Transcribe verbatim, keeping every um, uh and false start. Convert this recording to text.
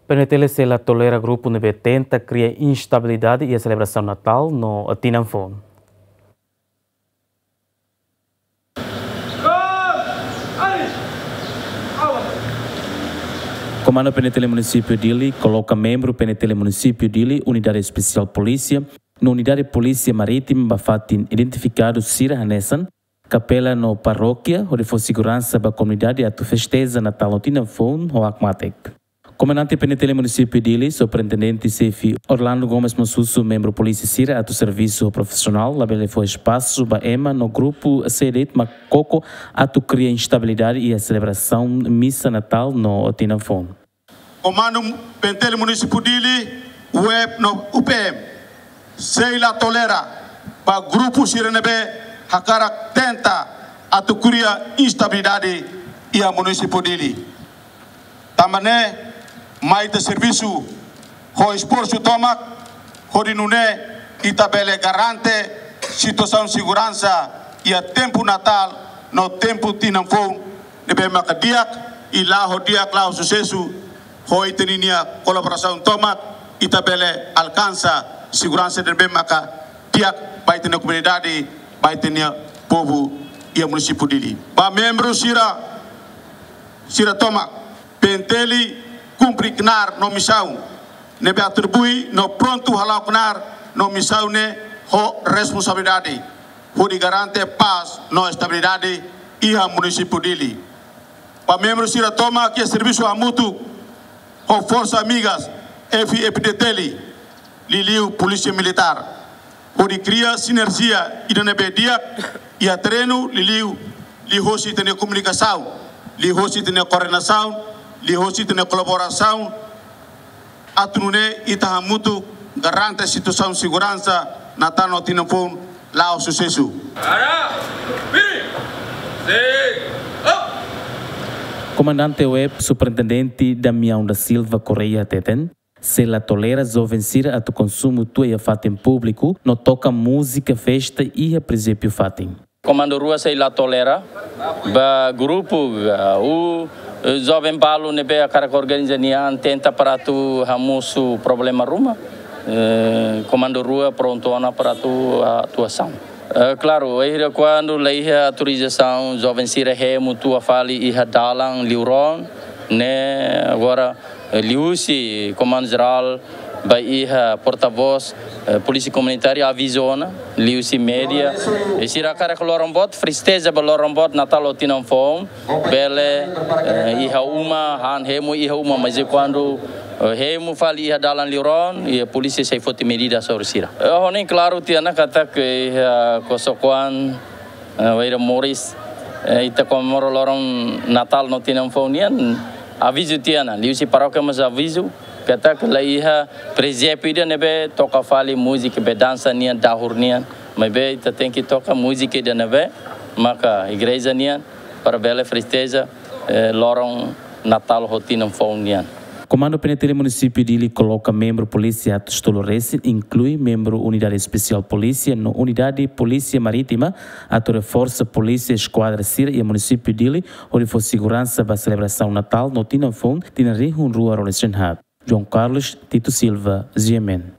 PNTL sei la tolera grupu ne'ebé tenta kria instabilidade iha selebrasaun Natál no tinan foun. Komandu PNTL Munisípiu Dili koloka membru PNTL Munisípiu Dili, Unidade Espesiál Polísia no Unidade Polísia Marítima ba fatin identifikadu sira hanesan kapela no parókia, hodi fó seguransa ba komunidade atu festeja Natál no tinan foun ho hakmatek. Komandante PNTL Munisípiu Dili, Superintendente Xefe Orlando Gomes mós husu membru polísia sira atu servisu profisionál, labele fó espasu ba ema no grupu sira de'it mak koko atu kria instabilidade iha selebrasaun misa Natál no tinan foun. Komandu PNTL Munisípiu Dili, UEP no UPM sei la tolera ba grupu sira ne'ebé hakarak tenta atu kria instabilidade iha Munisípiu Dili. Tanba ne'e, mai ita servisu ho esforsu tomak, hodi nune'e ita bele garante situasaun seguransa iha tempu Natál no tempu tinan foun ne'ebé maka di'ak, i la'o di'ak, la'o susesu. Ho ita-nia kolaborasaun tomak, ita bele alkansa seguransa ne'ebé maka di'ak ba ita-nia komunidade, ba ita-nia povu iha Munisípiu Dili. Ba membru sira, sira tomak, PNTL kumpre knaar no misaun ne'ebé atribui no prontu hala'o knaar no misaun ne'e ho responsabilidade, hodi garante pás no estabilidade iha Munisípiu Dili. Ba membru sira tomak, servisu hamutuk ho forsa amigas F-FDTL, liuliu Polísia Militár, hodi kria sinerjia ida ne'ebé di'ak iha terrenu, liuliu liuhosi ita-nia komunikasaun, liuhosi ita-nia koordenasaun, liuhosi ita-nia kolaborasaun, atu nune'e ita hamutuk garante situasaun seguransa Natál no tinan foun la'o susesu. Ara, piri, sei, up. Komandante UEP, Superintendente Damião da Silva Correia hateten, sei la tolera joven sira atu konsumu tua iha fatin públiku no toka múzika festa iha presépiu fatin. Komandu rua sei la tolera ba grupu, ah, ou, eh, joven balu ne'ebé hakarak organiza nia an tenta para atu hamosu problema ruma. Eh, komandu rua prontu ona para atu, ah, atuasaun. Eh, klaru, wainhira kuandu la iha autorizasaun, joven sira hemu tua fali iha dalan liuron, ne'e agora, eh, liuhusi Komandu Jerál ba iha portavós, eh, Polísia Komunitária aviza ona, liuhusi média, i sira hakarak loron boot, festeja ba loron boot Natál ou tinan foun, bele, eh, iha uma, han hemu iha uma, mas i kuandu, eh, hemu fali iha dalan liuron, i polísia sei foti medida sobre sira. Eh, ha'u hanoin klaru tiha ona katak iha Kosokoan, eh, wainhira moris, eh, ita komemora loron Natál no tinan foun nian, avizu tiha ona, liuhusi parókia mós avizu, katak la iha presépiu ida ne'ebé toka fali múzika, be dansa nian, dahur nian, maibé ita tenke toka múzika ida ne'ebé maka igreja nian, para bele festeja, eh, loron Natál ho tinan foun nian. Komandu PNTL Munisípiu Dili koloka membru polísia atus tolu resin, inklui membru Unidade Espesiál Polísia no Unidade Polísia Marítima, atu reforsa polísia eskuadra sira iha Munisípiu Dili, hodi fó seguransa ba selebrasaun Natál no tinan foun, tinan rihun rua ruanulu-resin-haat. João Carlos Tito Silva, G M N.